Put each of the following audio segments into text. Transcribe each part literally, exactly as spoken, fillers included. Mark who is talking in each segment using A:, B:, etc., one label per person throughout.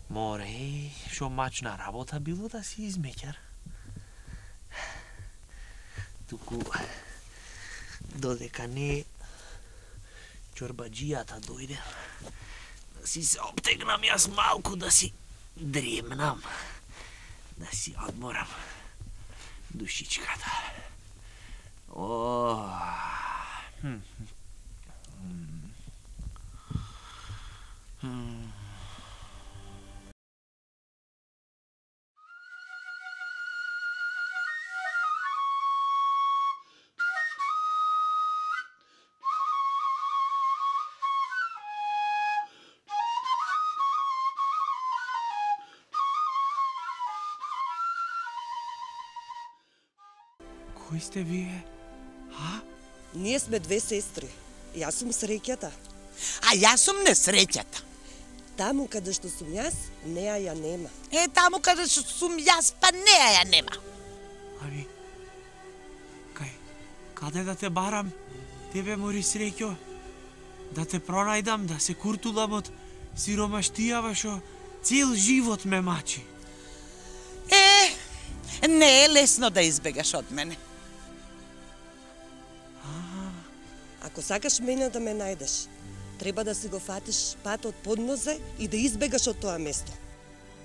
A: Море, шо мачна работа било да си измеќар. Туку, додека не чорбаджијата дојде, да си се обтегнам јас малку, да си дремнам, да си одморам душичката. О, хм. Хм. Кои сте вие? А?
B: Ние сме две сестри. Јас сум среќата.
C: А јас сум несреќата.
B: Таму каде што сум јас, неа ја нема.
C: Е, таму каде што сум јас, па неа ја нема.
A: Ави, кај, каде да те барам, тебе мори среќо, да те пронајдам, да се куртулам од сиромаштијава шо цел живот ме мачи.
C: Е, не е лесно да избегаш од мене.
B: Ако сакаш мене да ме најдеш, треба да си го фатиш патот под нозе и да избегаш од тоа место.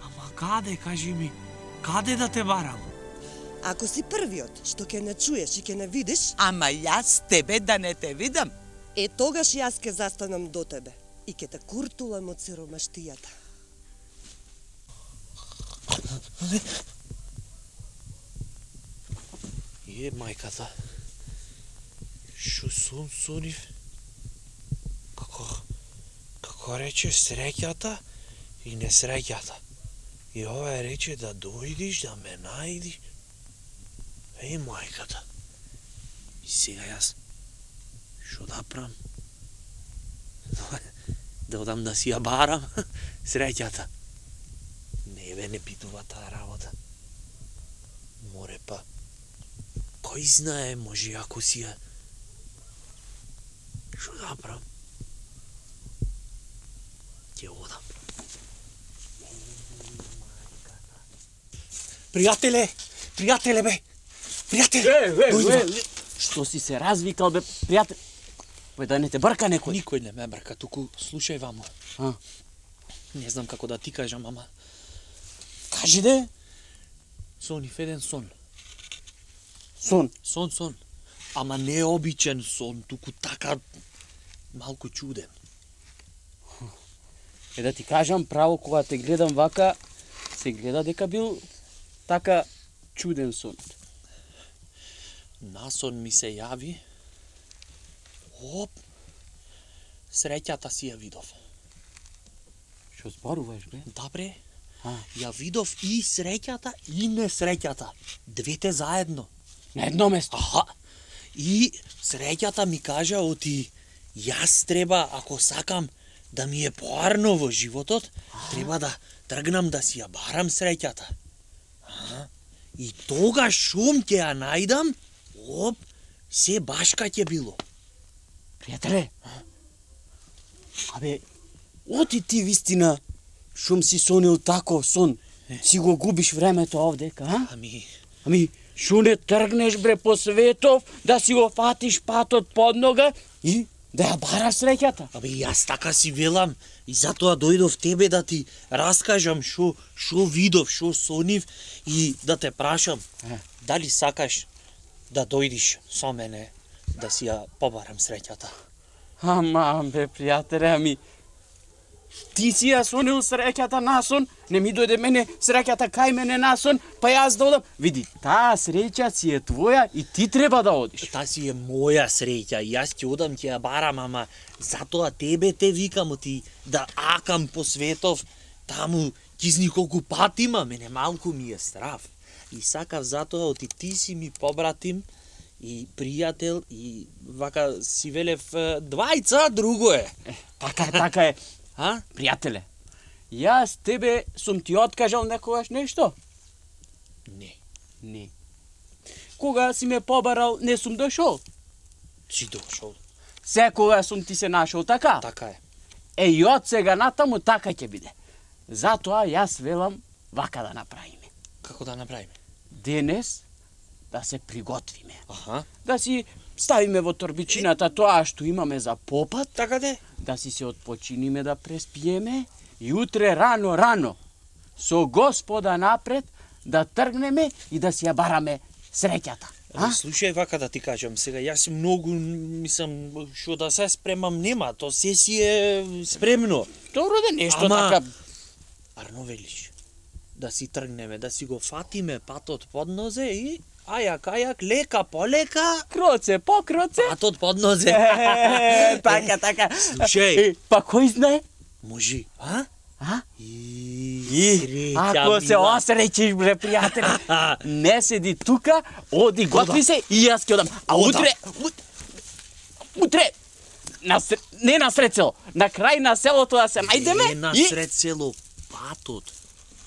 A: Ама каде, кажи ми, каде да те барам?
B: Ако си првиот што ќе не чуеш и ќе не видиш,
C: Ама јас тебе да не те видам.
B: е тогаш јас ќе застанам до тебе и ќе те куртулам од сиромаштијата.
A: Е, мајката, шо сум сонив? Како, како рече среќата и несреќата. И ова рече да дојдиш, да ме најдиш. Е, мајката. И сега јас, шо да прам? Да одам да си ја барам среќата. Не бе, не питува таа работа. Море па, кој знае, може ако си ја... Шо да прам? Ќе одам. Пријателе, пријателе бе, пријателе.
D: Е, е, е, што си се развикал бе, пријател? Пој да не те брка некој.
A: Никој не ме брка, туку слушај вамо.
D: А?
A: Не знам како да ти кажам, ама
D: Кажи де.
A: сонив еден сон.
D: Сон.
A: Сон, сон. Ама не обичен сон, туку така малку чуден.
D: Е да ти кажам право, кога те гледам вака, се гледа дека бил така чуден сон.
A: Насон ми се јави. Оп. Среќата си ја видов.
D: Што зборуваш бе?
A: Да бре.
D: А,
A: Ја видов и среќата и несреќата. Двете заедно.
D: на едно место.
A: Аха. И среќата ми кажа оти јас треба, ако сакам да ми е поарно во животот, треба да тргнам да си ја барам среќата. А? И тогаш шум ќе ја најдам, оп, се башка ќе било.
D: Пријателе. Абе, оти ти вистина шум си сонил тако сон. Си го губиш времето овдека, а?
A: Ами,
D: Ами, шо не тргнеш бре по светов, да си го фатиш патот под нога и да ја бараш среќата?
A: абе јас така си велам и затоа дојдов тебе да ти раскажам шо шо видов, шо сонив и да те прашам
D: Е.
A: дали сакаш да дојдиш со мене да си ја побарам среќата.
D: Ама, бе, пријателе, ами, ти си ја сонил среќата насон, не ми дојде мене среќата кај мене насон, па јас да одам. Види, таа среќа си е твоја и ти треба да одиш.
A: Та си е моја среќа, јас ќе одам ќе ја барам, ама затоа тебе те викам ти да акам по светов, таму кизни колку пати има, мене малку ми е страв. И сакав затоа оти ти си ми побратим и пријател и вака си велев двајца, друго е.
D: Така е, така е.
A: А?
D: Пријателе, јас тебе сум ти откажал некогаш нешто?
A: Не.
D: Не. Кога си ме побарал, не сум дошол.
A: Си дошол.
D: Секога сум ти се нашол, така?
A: Така е.
D: Е, и од сега натаму така ќе биде. Затоа јас велам вака да направиме.
A: Како да направиме?
D: Денес да се приготвиме.
A: Аха.
D: Да си ставиме во торбичината тоа што имаме за попат,
A: Така де?
D: да си се отпочиниме да преспиеме и утре рано, рано, со Господа напред, да тргнеме и да си ја бараме среќата.
A: А?
D: А?
A: Слушај, вака да ти кажам сега, јас многу, мислам, што да се спремам нема, то се си е спремно.
D: Добро да нешто
A: Ама-
D: така.
A: Арно велиш, да си тргнеме, да си го фатиме патот под нозе и ајак, ајак, лека, полека,
D: Кроце по кроце.
A: патот под нозе.
D: Е, така, така.
A: Слушај.
D: Е, па кој знае?
A: Можи, а?
D: А?
A: И,
D: И,
A: среќа
D: ако се
A: мила.
D: осреќиш, бре, пријател, не седи тука, оди, готви се и јас ќе одам. А
A: Ода.
D: утре, ут- утре, на, ср- не на сред село, на крај на селото да се најдеме
A: Е, на
D: и...
A: сред село патот.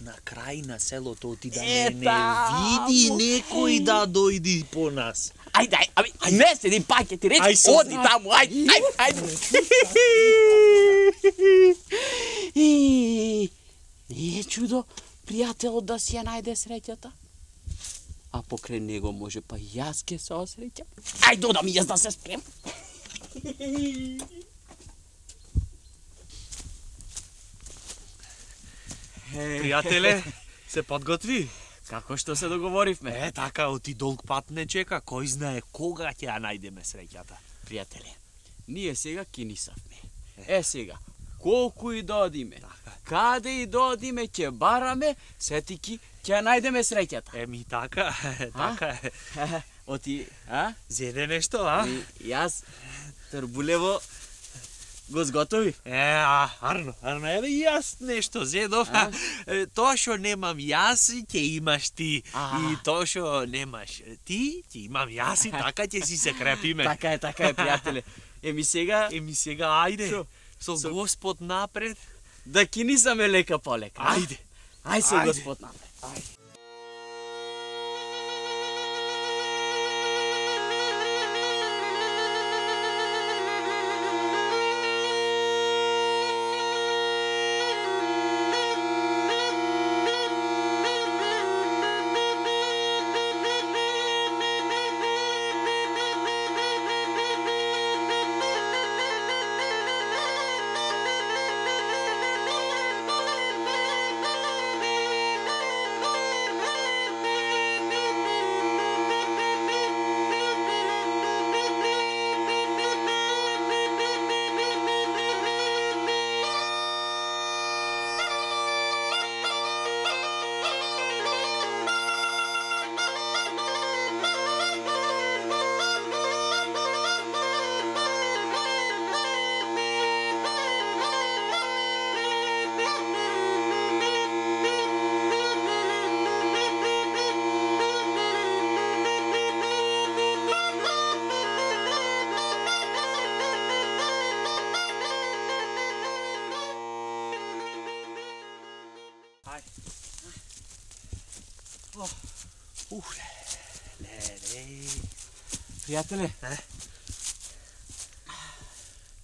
A: На крај на селото оти да
D: Е,
A: не, не
D: таму.
A: види некој да дојди по нас.
D: Ајде, ајде, аби, не седи, па ќе ти
A: Ај,
D: речи,
A: со
D: оди
A: знак.
D: таму, ајде, ајде, ајде. И, не е чудо, пријателот да си ја најде среќата. А покрај него може па јас ке се осреќам. Ајде, додам јас да се спрем.
A: Пријателе, се подготви?
D: Како што се договоривме.
A: Е, така, оти долг пат не чека, кој знае кога ќе ја најдеме среќата.
D: Пријателе, ние сега ќе нисавме. Е сега, колку и да одиме, каде и да одиме, ќе бараме, сетики ќе ја најдеме среќата.
A: Еми, така, така е.
D: Оти, а?
A: Зеде нешто, а?
D: И јас Трбулево го зготови.
A: Е, а, арно, арно, еве и јас нешто зедов. Е, Тоа што немам јас, ќе имаш ти.
D: А.
A: И тоа што немаш ти, ќе имам јас и така ќе си се крепиме.
D: Така е, така е, пријателе. Еми сега
A: Еми сега, ајде,
D: Шо?
A: со
D: Со-
A: Господ напред.
D: да кинисаме лека полека. а?
A: Ајде.
D: Ај со
A: Ајде.
D: Господ напред.
A: Ух, ле, ле.
D: Пријателе.
A: Е?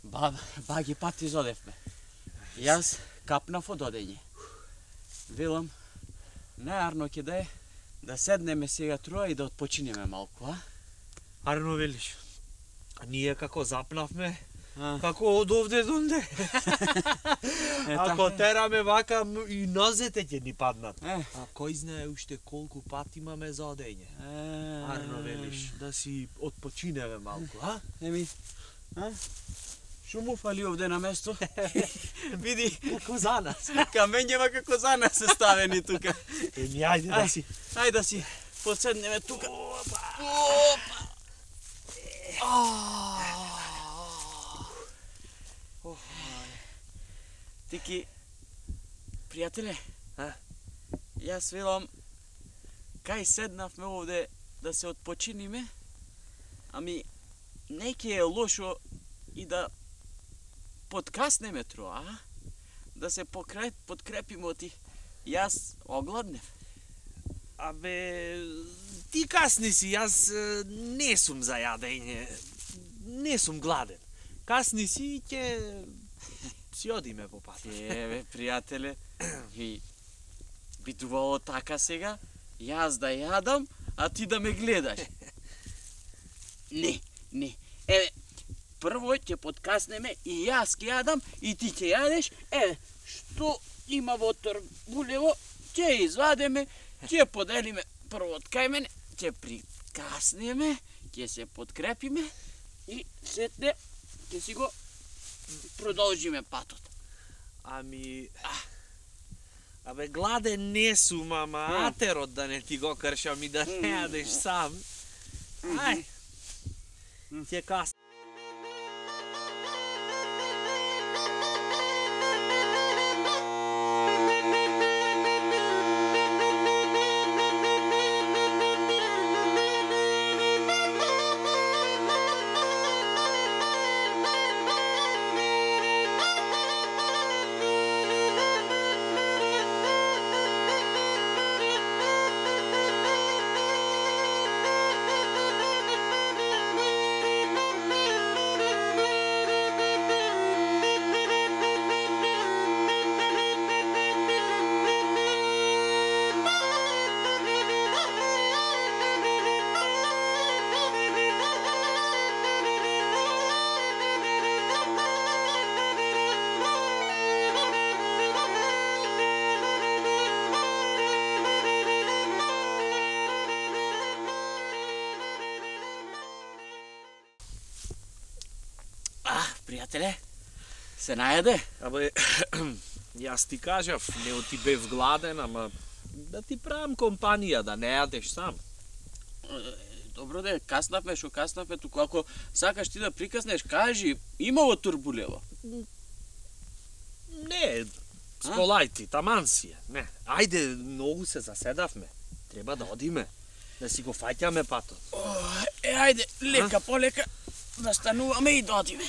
D: Ба, баги пат изодевме. Јас капнав од одење. Велам, најарно ќе да е да седнеме сега троа и да отпочинеме малку, а?
A: Арно велиш. А ние како запнавме,
D: А.
A: како од овде до онде.
D: Е,
A: Ако
D: така е.
A: тераме вака, м- и нозете ќе ни паднат.
D: Е.
A: А кој знае уште колку пат имаме за одење.
D: Е,
A: Арно велиш, да си отпочинеме малку, а?
D: Еми, а? Шо му фали овде на место? Види,
A: Како за нас.
D: камењева како за нас се ставени тука.
A: Еми, ајде да си.
D: Ајде да си поседнеме тука. Тики, пријателе,
A: А?
D: јас велам, кај седнавме овде да се отпочиниме, ами не ќе е лошо и да подкаснеме троа, а? да се покреп, подкрепимо ти. Јас огладнев.
A: Абе, ти касни си, јас е, не сум за јадење. Не сум гладен. Касни си и ќе си одиме по пат.
D: Еве, пријателе, и бидувало така сега, јас да јадам, а ти да ме гледаш. Не, не. Еве, прво ќе подкаснеме и јас ќе јадам и ти ќе јадеш. Еве, што има во торбулево, ќе извадеме, ќе поделиме прво од кај мене, ќе прикаснеме, ќе се подкрепиме и сетне ќе си го продолжиме патот.
A: Ами... Абе, гладен не сум, ама атерот да не ти го кршам и да не јадеш сам. Ај, ќе кас.
D: Пријателе, се најаде?
A: Абе, јас ти кажав, не ти бев гладен, ама да ти правам компанија, да не јадеш сам.
D: Добро де, каснавме шо каснавме, туку ако сакаш ти да прикаснеш, кажи, има во турбулево.
A: Не, сколај ти, таман си е. Не, ајде, многу се заседавме. Треба да одиме, да си го фаќаме патот.
D: Е, ајде, лека полека, да стануваме и да одиме.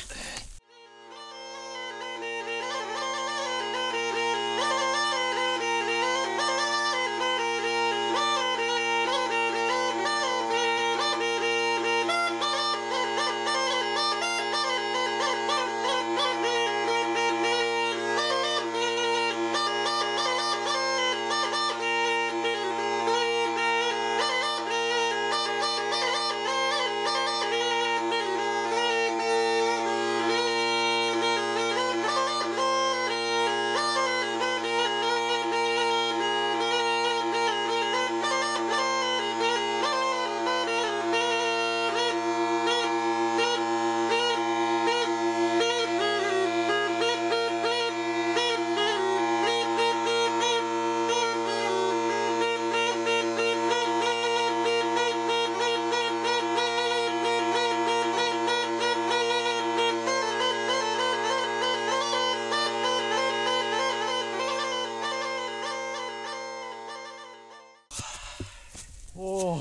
A: О,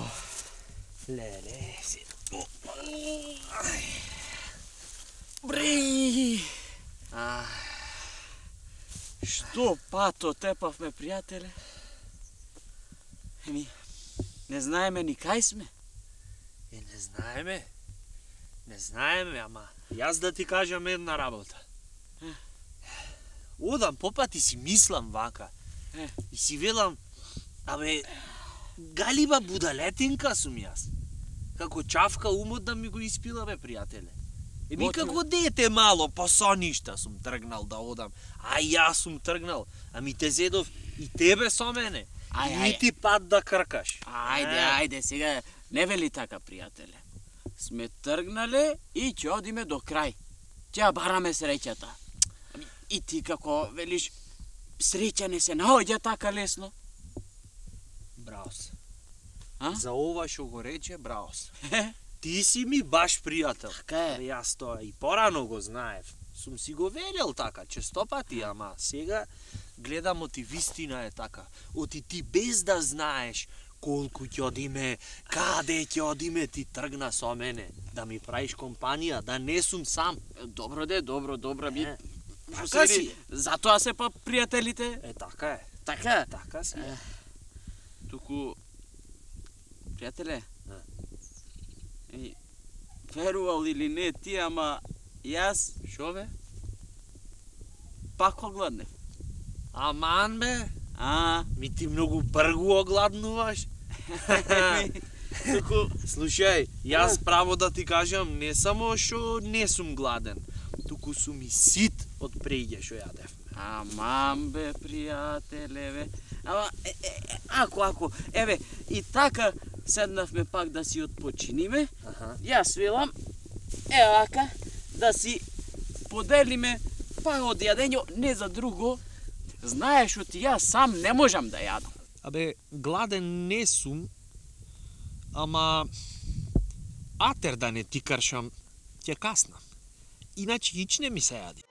A: леле, си.
D: Бри! А, што пато тепавме, пријателе? Еми, не знаеме ни кај сме.
A: Е, не знаеме. Не знаеме, ама јас да ти кажам една работа. Одам попати си мислам вака.
D: Е.
A: И си велам, абе, галиба будалетинка сум јас. Како чавка умот да ми го испила, бе, пријателе. Еми
D: Мотиве.
A: како дете мало, по соништа сум тргнал да одам. А јас сум тргнал, ами те зедов и тебе со мене.
D: Ај,
A: И
D: ај.
A: ти пат да кркаш.
D: Ајде,
A: Е.
D: ајде, сега не вели така, пријателе. Сме тргнале и ќе одиме до крај. Ќе ја бараме среќата. Ами, и ти како велиш, среќа не се наоѓа така лесно.
A: Браво се.
D: А?
A: За ова што го рече, браво се. Ти си ми баш пријател.
D: Така е.
A: Абе, јас тоа и порано го знаев. Сум си го велел така, честопати, ама сега гледам оти вистина е така. Оти ти без да знаеш колку ќе одиме, каде ќе одиме, ти тргна со мене. Да ми правиш компанија, да не сум сам.
D: Добро де, добро, добро, ми
A: Е.
D: Што
A: Така
D: се
A: си.
D: вели, затоа се па пријателите.
A: Е, така е.
D: Така?
A: Така си.
D: Е. Туку, пријателе, и, верувал или не ти, ама јас, шо бе? Пак огладнев.
A: Аман бе,
D: А,
A: ми ти многу бргу огладнуваш.
D: туку,
A: Слушај, јас право да ти кажам, не само што не сум гладен, туку сум и сит од преѓе што јадев.
D: амам бе, пријателе, бе. Ама, е, е, ако, ако, еве, и така седнавме пак да си отпочиниме,
A: Аха.
D: јас велам, е ака, да си поделиме па од јадење, не за друго. Знаеш оти јас сам не можам да јадам.
A: Абе, гладен не сум, ама атер да не ти кршам, ќе каснам. Иначе ич не ми се јади.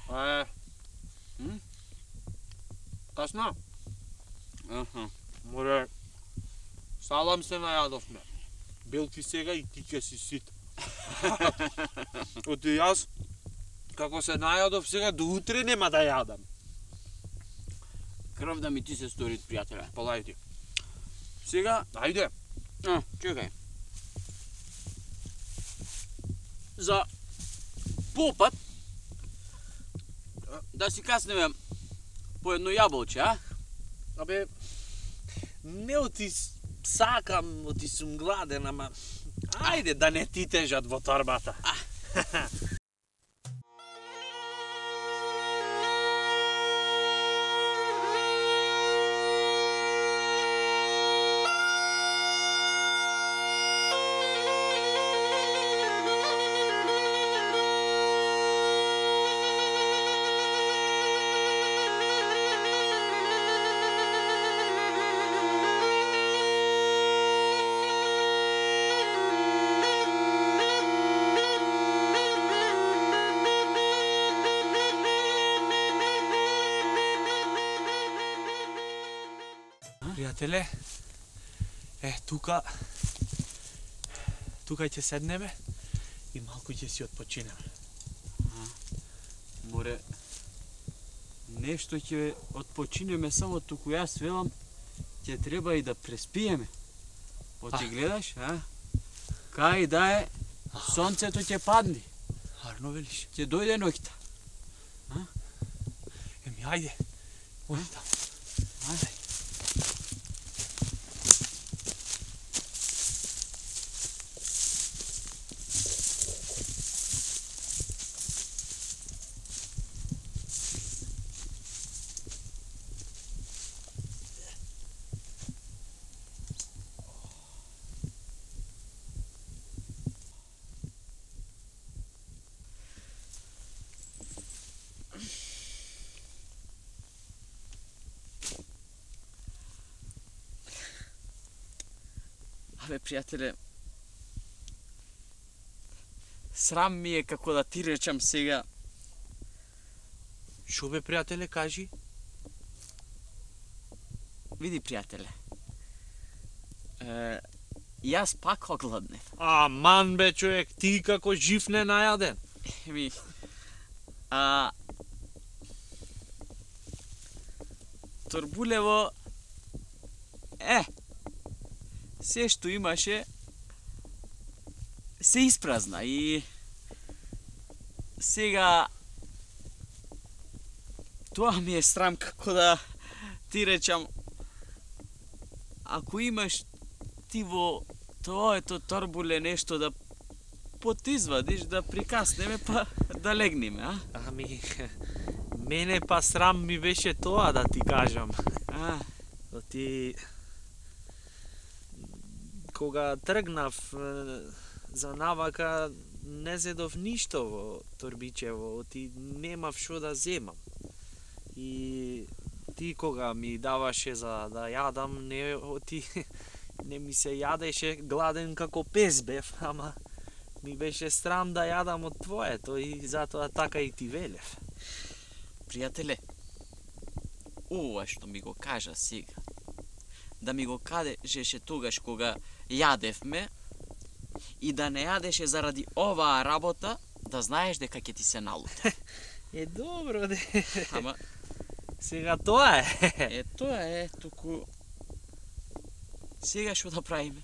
A: Е,
D: М?
A: касна?
D: Аха.
A: Море, салам се најадовме. Белки сега и ти ќе си сит. Оти јас, како се најадов сега, до утре нема да јадам.
D: Крв да ми ти се стори, пријателе.
A: Полајди.
D: Сега,
A: Ајде.
D: а, чекај. За попат, да си каснеме по едно јаболче, а?
A: Абе, не оти с- сакам, оти сум гладен, ама ајде да не ти тежат во торбата. Пријателе, е, тука, тука ќе седнеме и малку ќе си отпочинеме.
D: Море, нешто ќе отпочинеме, само туку јас велам, ќе треба и да преспиеме. Оти
A: А.
D: гледаш, а? Кај да е, сонцето ќе падне,
A: Арно велиш?
D: ќе дојде ноќта.
A: Еми, ајде. Оди таму.
D: Ајде. Абе, пријателе, срам ми е како да ти речам сега.
A: Шо бе, пријателе, кажи?
D: Види, пријателе, е, јас пак огладнев.
A: Аман бе, човек, ти како жив не најаден.
D: Еми, а... Торбулево, е, се што имаше, се испразна и сега Тоа ми е срам како да ти речам, ако имаш ти во твоето торбуле нешто да потизвадиш, да прикаснеме, па да легнеме, а?
A: Ами, мене па срам ми беше тоа да ти кажам.
D: А,
A: Оти... Кога тргнав е, за навака, не зедов ништо во торбичево, оти немав шо да земам. И ти кога ми даваше за да јадам, не, оти, не ми се јадеше, гладен како пес бев, ама ми беше срам да јадам од твоето и затоа така и ти велев.
D: пријателе, ова што ми го кажа сега, да ми го кажеше тогаш кога јадевме и да не јадеше заради оваа работа, да знаеш дека ќе ти се налута.
A: Е, добро, де.
D: Ама,
A: Сега тоа е.
D: е, тоа е, туку... Сега што да правиме?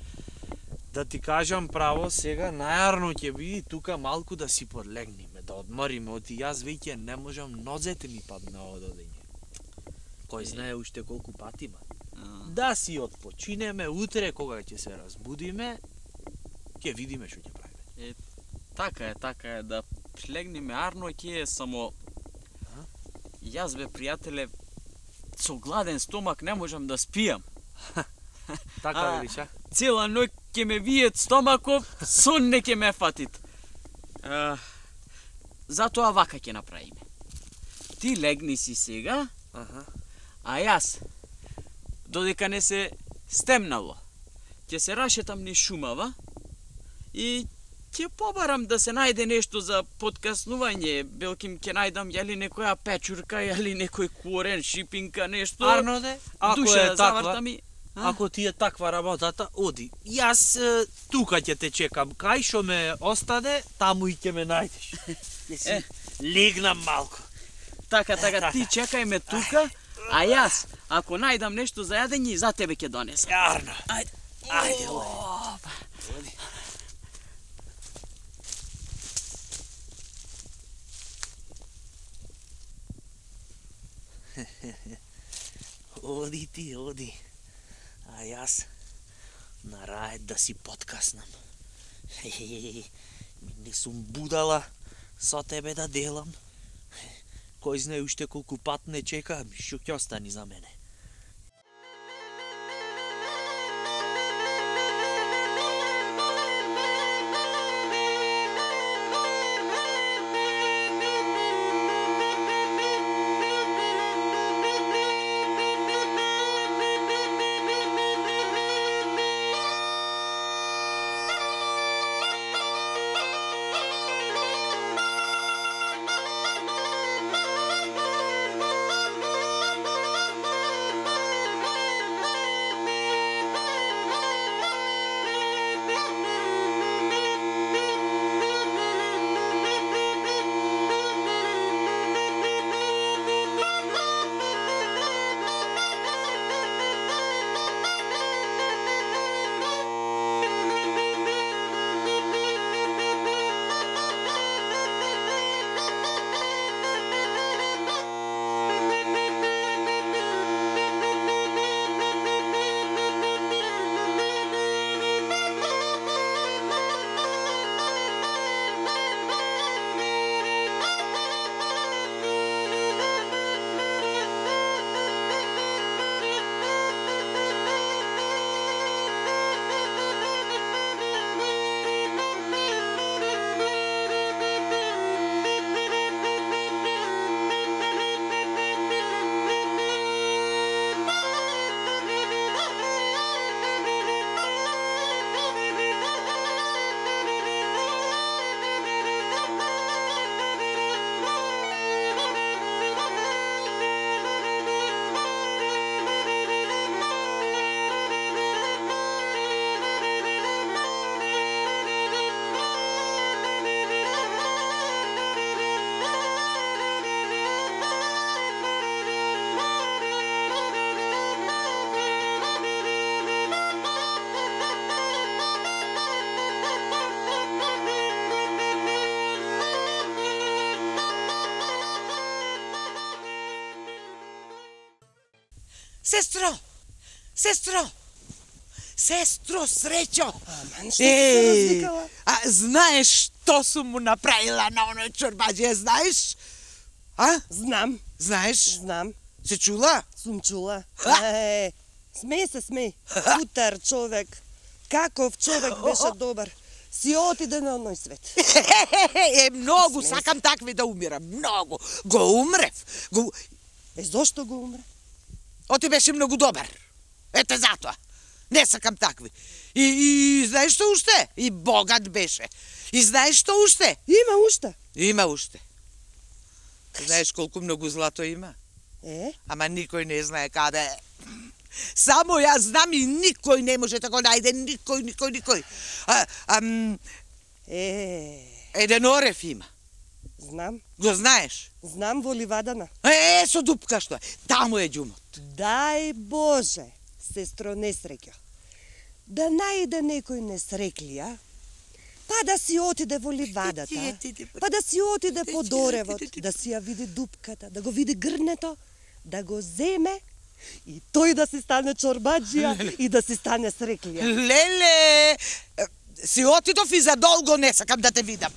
A: Да ти кажам право, сега најарно ќе биде тука малку да си подлегнеме, да одмориме, оти јас веќе не можам, нозете ми падна од одење. Кој знае уште колку пати има. Да си отпочинеме, утре кога ќе се разбудиме, ќе видиме што ќе правиме.
D: Така е, така е, да легнеме арно ќе е, само... Јас бе, пријателе, со гладен стомак не можам да спијам.
A: Така
D: А,
A: велиш, а?
D: Цела ноќ ќе ме виет стомаков, сон не ќе ме фатит. А, затоа вака ќе направиме. Ти легни си сега,
A: Аха.
D: а јас, додека не се стемнало, ќе се рашетам низ шумава и ќе побарам да се најде нешто за подкаснување, белким ќе најдам јали некоја печурка, јали некој корен, шипинка, нешто.
A: Арноде, ако
D: душа
A: е
D: да
A: таква,
D: завртам и... А?
A: ако ти е таква работата, оди. Јас е, тука ќе те чекам, кај што ме остане, таму и ќе ме најдеш. Ќе си
D: Е.
A: легнам малку.
D: Така, така, ти чекај ме тука, а јас, ако најдам нешто за јадење, за тебе ќе донесам.
A: Арно.
D: Ајде.
A: Ајде, оди. Оди. Оди ти, оди. А јас на рајд да си подкаснам. Не сум будала со тебе да делам. Кој знае уште колку пат не чека, што ќе остани за мене.
C: Сестро! Сестро! Сестро, среќо!
B: Аман, што си се развикала?
C: а знаеш што сум му направила на оној чорбаџија, знаеш? А?
B: Знам,
C: Знаеш?
B: знам.
C: Се чула?
B: Сум чула.
C: А?
B: Е, смеј се, смеј. Утар човек. Каков човек беше добар. Си отиде на оној свет.
C: Е, многу,
B: Смеј се.
C: сакам такви да умирам, многу. Го умрев. Го...
B: Е, зошто го умре?
C: Оти беше многу добар. Ете затоа. Не сакам такви. И, и знаеш што уште? И богат беше. И знаеш што уште?
B: Има уште.
C: Има уште. Знаеш колку многу злато има?
B: Е,
C: Ама никој не знае каде е. Само јас знам и никој не може да го најде, никој, никој, никој. А, ам,
B: е,
C: еден орев има.
B: знам.
C: Го знаеш?
B: Знам во ливадана.
C: Е, со дупка што е. Таму е џумот.
B: Дај Боже, сестро несреќа, да најде некој несреклија, па да си отиде во ливадата, па да си отиде по доревот, да си ја види дупката, да го види грнето, да го земе и тој да си стане чорбаџија и да си стане среклија.
C: Леле, си отидов и за долго не сакам да те видам.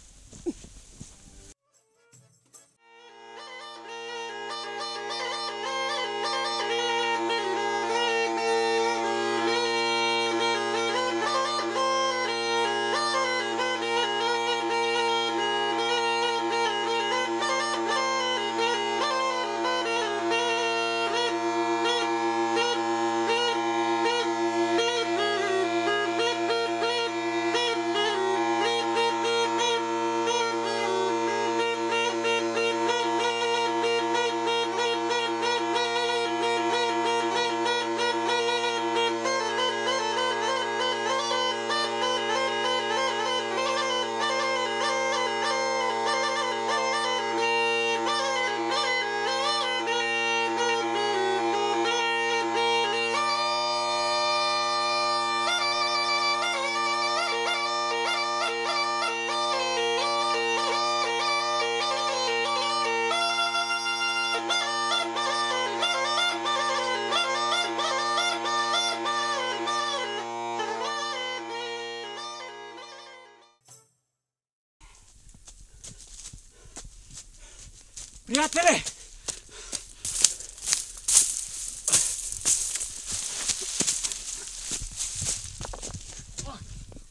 D: Пријателе!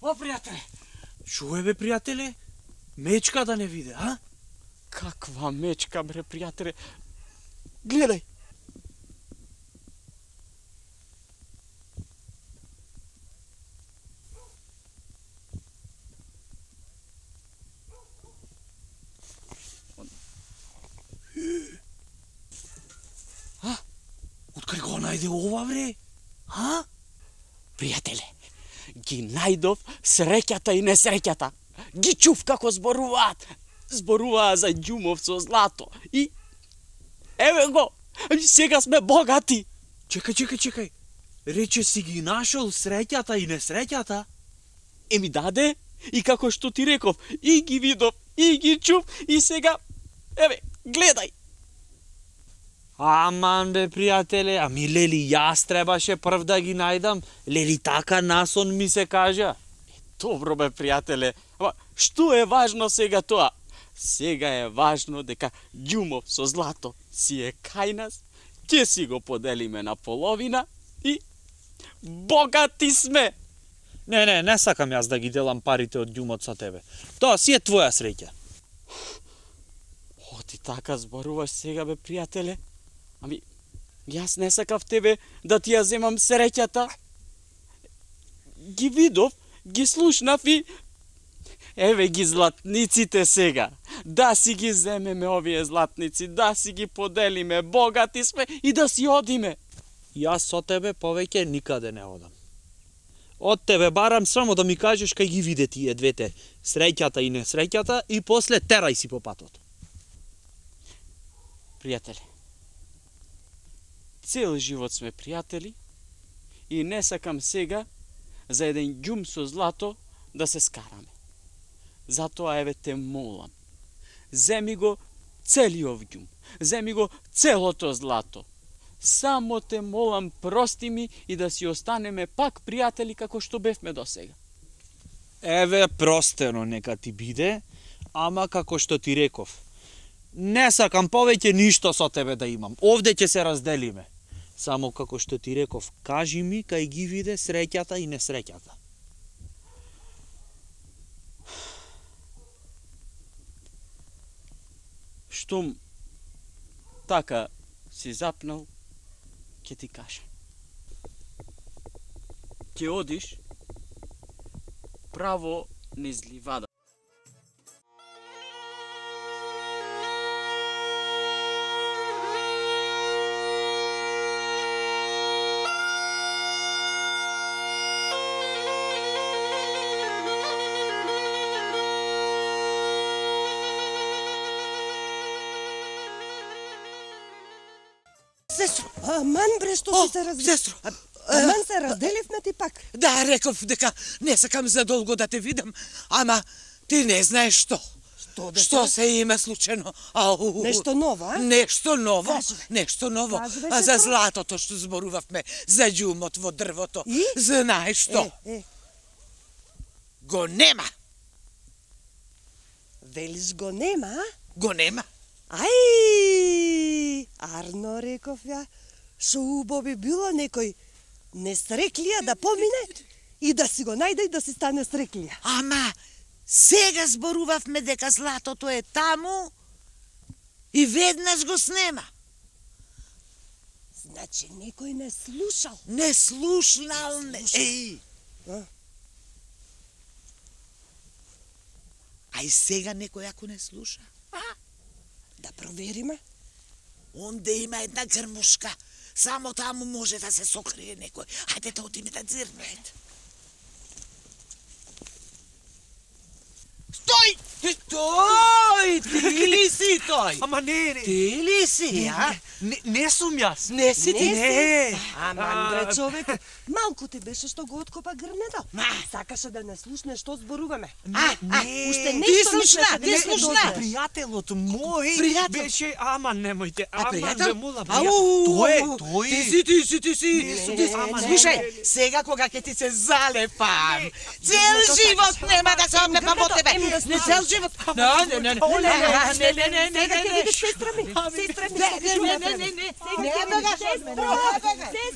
D: О, пријателе!
A: Чуе бе, пријателе? Мечка да не виде, а?
D: Каква мечка, бре, пријателе! Гледај!
A: Откаде го најде ова, бре? А?
D: Пријателе, ги најдов среќата и несреќата. Ги чув како зборуваат. Зборуваа за ѓумов со злато. И еве го, сега сме богати.
A: Чекај, чекај, чекај. Рече си ги нашол среќата и несреќата?
D: Еми даде, и како што ти реков, и ги видов, и ги чув, и сега, еве, гледај.
A: Аман бе, пријателе, ами лели јас требаше прв да ги најдам. Лели така насон ми се кажа.
D: Добро бе, пријателе, ама што е важно сега тоа? Сега е важно дека ѓумов со злато си е кај нас, ќе си го поделиме на половина и богати сме.
A: Не, не, не сакам јас да ги делам парите од ѓумот со тебе. Тоа си е твоја среќа.
D: О, ти така зборуваш сега бе, пријателе? Ами, јас не сакав тебе да ти ја земам среќата. Ги видов, ги слушнав и... Еве ги златниците сега. Да си ги земеме овие златници, да си ги поделиме, богати сме и да си одиме.
A: Јас со тебе повеќе никаде не одам. Од тебе барам само да ми кажеш кај ги виде тие двете, среќата и несреќата, и после терај си по патот.
D: Пријателе, цел живот сме пријатели и не сакам сега за еден ѓум со злато да се скараме. Затоа еве те молам, земи го целиот ѓум, земи го целото злато. Само те молам, прости ми и да си останеме пак пријатели како што бевме досега.
A: Еве, простено нека ти биде, ама како што ти реков. Не сакам повеќе ништо со тебе да имам. Овде ќе се разделиме. Само како што ти реков, кажи ми кај ги виде среќата и несреќата.
D: Штом така си запнал, ќе ти кажа. Ќе одиш право низ ливада.
C: Сестро,
B: Аман бре, што
C: О,
B: си се разделив?
C: сестро,
B: Аман се разделивме ти пак.
C: да, реков дека не сакам задолго да те видам, ама ти не знаеш што.
B: Што да
C: Што
B: се-
C: се има случено? Ау,
B: Нешто ново, а?
C: Нешто ново,
B: Кажуве.
C: нешто ново.
B: Кажуве,
C: А за
B: сестро.
C: златото што зборувавме, за ѓумот во дрвото.
B: И?
C: Знаеш што?
B: Е, е,
C: Го нема.
B: велиш го нема, а?
C: Го нема.
B: Ај, арно реков ја, шо убаво би било некој несреклија да помине и да си го најде и да си стане среклија.
C: Ама сега зборувавме дека златото е таму и веднаш го снема.
B: Значи некој не слушал.
C: Не слушнал, не... Еј.
B: А?
C: А и сега некој ако не слуша?
B: Да провериме.
C: Онде има една грмушка. Само таму може да се сокрие некој. Ајде да одиме да дзирнеме. Стој! Стој! Ти ли си тој?
A: Ама не, не,
C: Ти ли си, а?
A: не, не сум јас.
C: Не си ти?
B: Не. Аман бре
A: А,
B: човек, малку ти беше што го откопа грнето.
C: Ма.
B: Сакаше да не слушне што зборуваме.
C: А, а,
A: Не.
B: Уште
C: Ти
B: нешто
C: слушна,
B: мислеше,
C: ти
B: не
C: слушна.
B: дознаш.
A: Пријателот мој
C: Пријател?
A: беше, ама немојте,
C: А
A: ама
C: пријател?
A: ве мола,
C: Ау,
A: пријател. Тој,
C: ау,
A: тој.
C: Ти си, ти си, ти си.
A: Не сум
C: Ти
A: јас,
C: си.
A: ама не,
C: Слушај,
A: не, не.
C: сега кога ќе ти се залепам, цел
B: Не,
C: живот
B: не,
C: нема да се
B: не,
C: облепам од
B: не,
C: тебе.
B: не,
C: Не, цел живот. Не, не, не, не.
B: Оле,
C: А, Не, не, не, не,
B: Сега
C: не,
B: ќе
C: не.
B: видиш сестра ми, сестра ми,
C: Не,
B: што
C: не,
B: ќе
C: не,
B: направи.
C: не, не, не.
B: Сега
C: Не
B: ќе
C: бегаш
B: видиш
C: од мене,
B: сестра,
C: не бегаш.